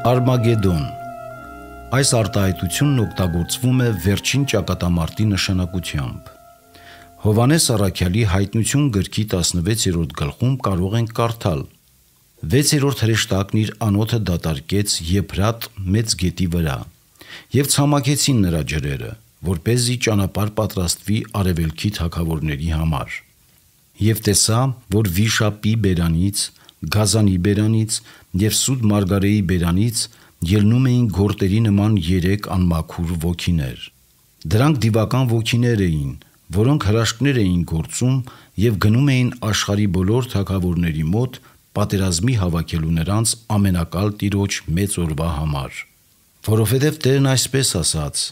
Արմագեդոն։ Այս արտահայտությունն օգտագործվում է վերջին ճակատամարտի նշանակությամբ։ Հովհաննես Առաքյալի հայտնություն գրքի 16-րդ գլխում կարող ենք կարդալ. 6-րդ հրեշտակն իր անոթը դատարկեց Եփրատ մեծ գետի վրա, և ցամաքեցին նրա ջրերը, որպեսզի ճանապարհ պատրաստվի արևելքի թագավորների համար։ Եվ տեսա, որ Վիշապի բերանից, Գազանի բերանից և Սուդ Մարգարեի բերանից ելնում էին գորտերի նման 3 անմաքուր ոգիներ։ Դրանք դիվական ոգիներ էին, որոնք հրաշքներ էին գործում և գնում էին աշխարհի բոլոր թագավորների մոտ պատերազմի հավաքելու նրանց ամենակալ տիրոջ մեծ օրվա համար։ Որովհետև Տերն այսպես ասաց.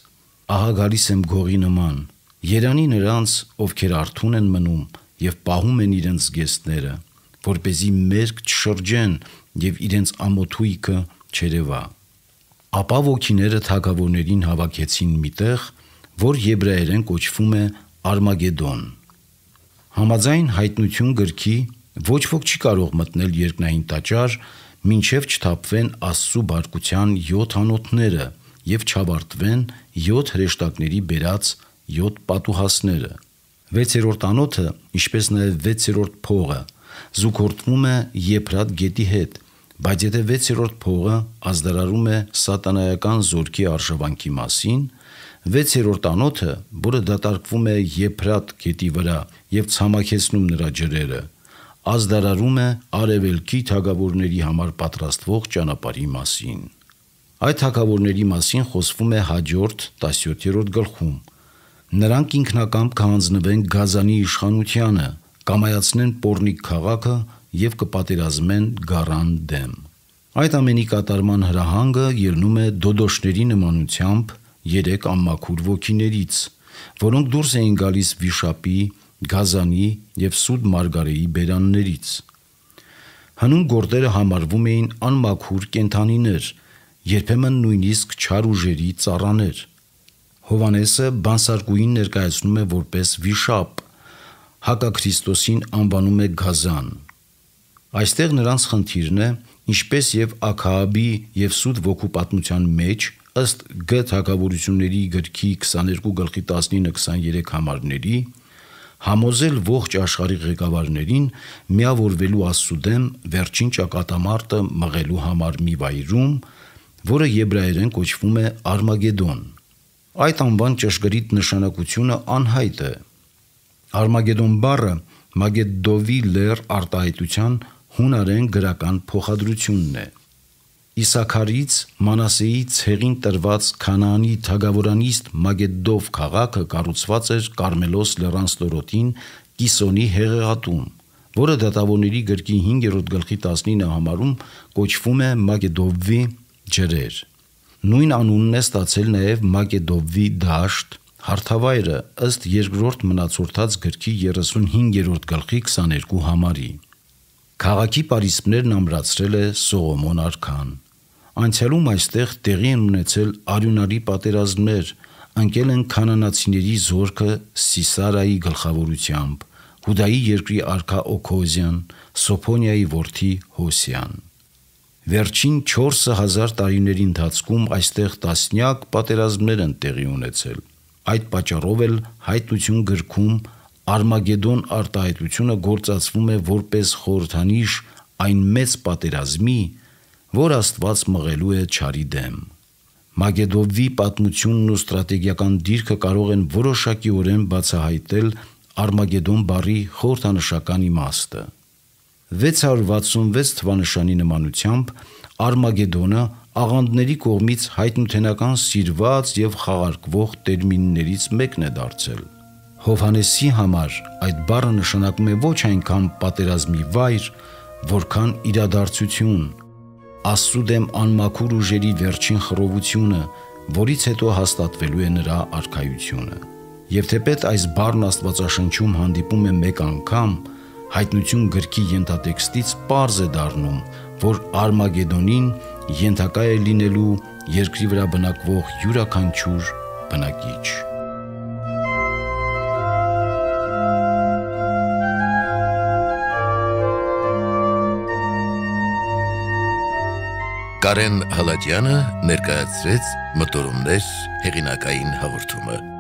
«Ահա գալիս եմ գողի նման, երանի նրանց, ովքեր արթուն են մնում և պահում են իրենց զգեստները, որպեսզի մերկ չշրջեն և իրենց ամոթույքը չերևա»։ Ապա ոգիները թագավորներին հավաքեցին մի տեղ, որ եբրայերեն կոչվում է Արմագեդոն։ Համաձայն հայտնություն գրքի ոչ ոք չի կարող մտնել երկնային տաճար, մինչև չթափվեն Աստծու բարկության 7 անոթները և չավարտվեն 7 հրեշտակների բերած 7 պատուհասները։ 6-րդ անոթը, ինչպես նաև 6-րդ փողը զուգորդվում է Եփրատ գետի հետ, բայց եթե 6-րդ փողը ազդարարում է սատանայական զորքի արժևանքի մասին, 6-րդ անոթը, որը դատարկվում է Եփրատ գետի վրա և ցամաքեցնում նրա ջրերը, ազդարարում է արևելքի թագավորների համար պատրաստվող ճանապարհի մասին։ Այդ թագավորների մասին խոսվում է հաջորդ 17-րդ գլխում։ Նրանք ինքնակամ կհանձնվեն Գազանի իշխանությանը, կամայացնեն Պոռնիկ քաղաքը և կպատերազմեն գառան դեմ։ Այդ ամենի կատարման հրահանգը ելնում է դոդոշների նմանությամբ 3 անմաքուր ոգիներից, որոնք դուրս էին գալիս Վիշապի, Գազանի և Սուդ Մարգարեի բերաններից։ Հնում գորտերը համարվում էին անմաքուր կենդանիներ, երբեմն նույնիսկ չար ուժերի ծառաներ։ Հովհաննեսը բանսարկուհին ներկայացնում է որպես վիշապ, Հակաքրիստոսին անվանում է Գազան։ Այստեղ նրանց խնդիրն է, ինչպես և Աքահաբի և Սուդ ոգու պատմության մեջ, ըստ Գ թագավորությունների գրքի 22:19-23 համարների, համոզել ողջ աշխարհի ղեկավարներին միավորվելու Աստծու դեմ վերջին ճակատամարտը մղելու համար մի վայրում, որը եբրայերեն կոչվում է Արմագեդոն։ Այդ անվան ճշգրիտ նշանակությունը անհայտ է։ Արմագեդոն բառը Մագեդովի լեռ արտահայտության հունարեն գրական փոխադրությունն է։ Իսաքարից Մանասեի ցեղին տրված Քանաանի թագավորանիստ Մագեդով քաղաքը կառուցված էր Կարմելոս լեռան ստորոտին Կիսոնի հեղեղատուն, որը Դատավորների գրքի 5-րդ գլխի 19 համարում կոչվում է Մագեդովի ջրեր։ Նույն անունն է ստացել նաև Մագեդովի դաշտ, հարթավայրը, ըստ 2-րդ Մնացորդաց գրքի 35-րդ գլխի 22 համարի։ Քաղաքի պարիսպներն ամրացրել է Սողոմոն արքան։ Անցյալում այստեղ տեղի են ունեցել արյունարի պատերազմներ, ընկել են քանանացիների զորքը Սիսարայի գլխավորությամբ, Հուդայի երկրի արքա Օքոզյան, Սոփոնիայի որդի Հոսիան։ Վերջին 4000 տարիների ընթացքում այստեղ տասնյակ պատերազմներ են տեղի ունեցել։ Այդ պատճառով էլ հայտնություն գրքում Արմագեդոն արտահայտությունը գործածվում է որպես խորհրդանիշ այն մեծ պատերազմի, որ Աստված մղելու է չարի դեմ։ Մագեդովի պատմությունն ու ստրատեգիական դիրքը կարող են որոշակիորեն բացահայտել Արմագեդոն բառի խորհրդանշական իմաստը։ 666 թվանշանի նմանությամբ Արմագեդոնը աղանդների կողմից հայտնութենական սիրված և խաղարկվող տերմիններից մեկն է դարձել։ Հովհաննեսի համար այդ բառը նշանակում է ոչ այնքան պատերազմի վայր, որքան իրադարձություն, Աստծու դեմ անմաքուր ուժերի վերջին խռովությունը, որից հետո հաստատվելու է նրա արքայությունը։ Եվ թեպետ այս բառն Աստվածաշնչում հանդիպում է մեկ անգամ, հայտնություն գրքի ենթատեքստից պարզ է դառնում, որ Արմագեդոնին ենթակա է լինելու երկրի վրա բնակվող յուրաքանչյուր բնակիչ։ Կարեն Հալաջյանը ներկայացրեց Մտորումներ հեղինակային հաղորդումը։